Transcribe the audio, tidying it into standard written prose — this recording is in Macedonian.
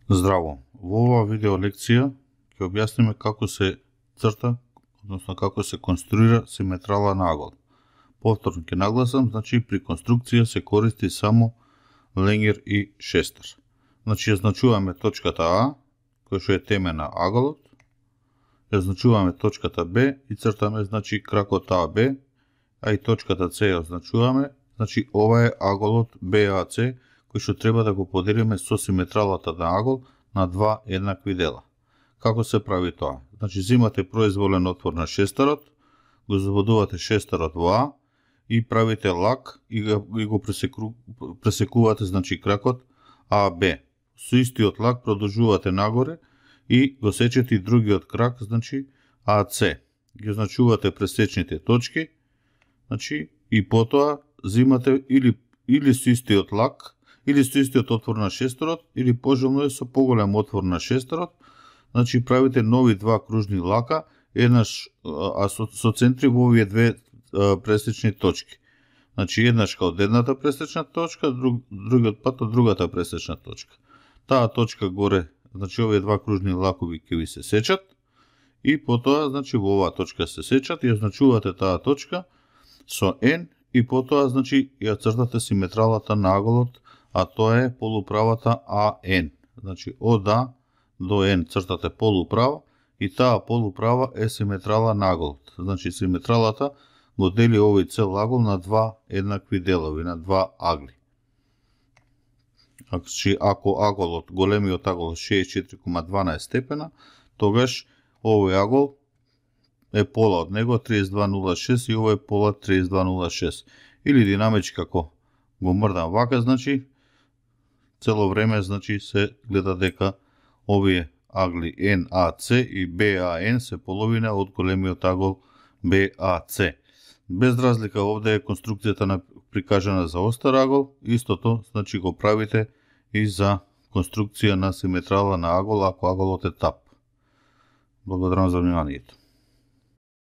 Здраво! Во оваа видео лекција ќе објасниме како се црта, односно како се конструира симетрала на агол. Повторно ќе нагласам, значи при конструкција се користи само ленгер и шестер. Значи ја значуваме точката А, која што е теме на аголот, ја значуваме точката Б и цртаме значи кракот АБ, а и точката С ја значуваме, значи ова е аголот БАЦ, кој што треба да го поделиме со симетралата на агол на два еднакви дела. Како се прави тоа? Значи земате произволен отвор на шестерот, го заводувате шестерот во А и правите лак и го пресекувате значи кракот АБ. Со истиот лак продолжувате нагоре и го сечете и другиот крак, значи АЦ. Ги значувате пресечните точки, значи и потоа земате или со истиот лак, или со истиот отвор на шестерот, или пожелно е со поголем отвор на шестерот, значи правите нови два кружни лака, еднаш со центри во овие две пресечни точки. Значи еднаш од едната пресечна точка, другиот пат од другата пресечна точка. Таа точка горе, значи овие два кружни лакови ќе ви се сечат и потоа, значи во оваа точка се сечат и ја значувате таа точка со N и потоа, значи ја цртате симетралата на аголот, а тоа е полуправата АН. Значи од А до N цртате полуправа и таа полуправа е симетрала на аголот. Значи симетралата го дели овој цел агол на два еднакви делови, на два агли. Ако аголот, големиот агол 64,12 степена, тогаш овој агол е пола од него 32,06 и овој пола 32,06. Или динамички како го мрдам вака, значи цело време значи се гледа дека овие агли NAC и BAN се половина од големиот агол BAC. Без разлика овде е конструкцијата прикажана за остар агол, истото значи го правите и за конструкција на симетрала на агол ако аголот е тап. Благодарам за вниманието.